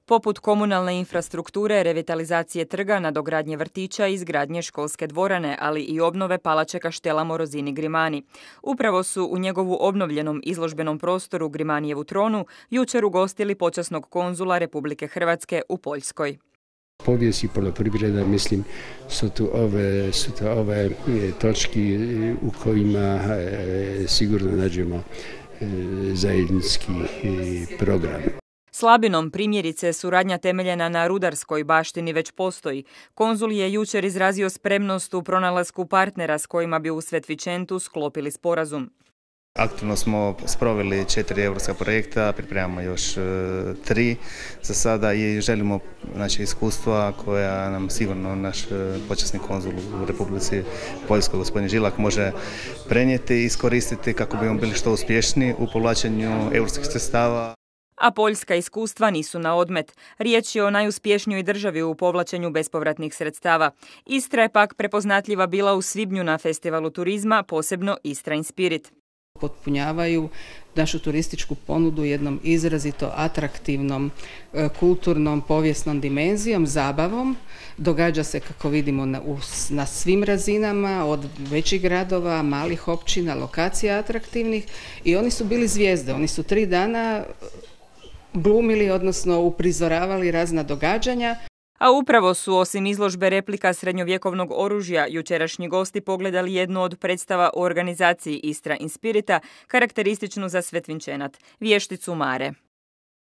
poput komunalne infrastrukture, revitalizacije trga, nadogradnje vrtića i izgradnje školske dvorane, ali i obnove palače kaštela Morozini Grimani. Upravo su u njegovu obnovljenom izložbenom prostoru Grimanijevu tronu jučer ugostili počasnog konzula Republike Hrvatske u Poljskoj. Povijest i poljoprivreda, mislim, su to ove točki u kojima sigurno nađemo zajednički program. Slabinom, primjerice, suradnja temeljena na rudarskoj baštini već postoji. Konzul je jučer izrazio spremnost u pronalasku partnera s kojima bi u Svetvičentu sklopili sporazum. Aktivno smo sproveli 4 europska projekta, pripremamo još 3 za sada i želimo iskustva koja nam sigurno naš počasni konzul u Republici Poljskoj, gospodin Žilak, može prenijeti i iskoristiti kako bi bili što uspješniji u povlačenju europskih sredstava. A poljska iskustva nisu na odmet. Riječ je o najuspješnijoj državi u povlačenju bespovratnih sredstava. Istra je pak prepoznatljiva bila u svibnju na festivalu turizma, posebno Istra in Spirit. Potpunjavaju našu turističku ponudu jednom izrazito atraktivnom, kulturnom, povijesnom dimenzijom, zabavom. Događa se, kako vidimo, na svim razinama, od većih gradova, malih općina, lokacija atraktivnih, i oni su bili zvijezde. Oni su 3 dana glumili, odnosno uprizoravali razna događanja. A upravo su, osim izložbe replika srednjovjekovnog oružja, jučerašnji gosti pogledali jednu od predstava u organizaciji Istra in Spirita, karakterističnu za Svetvinčenat, vješticu Mare.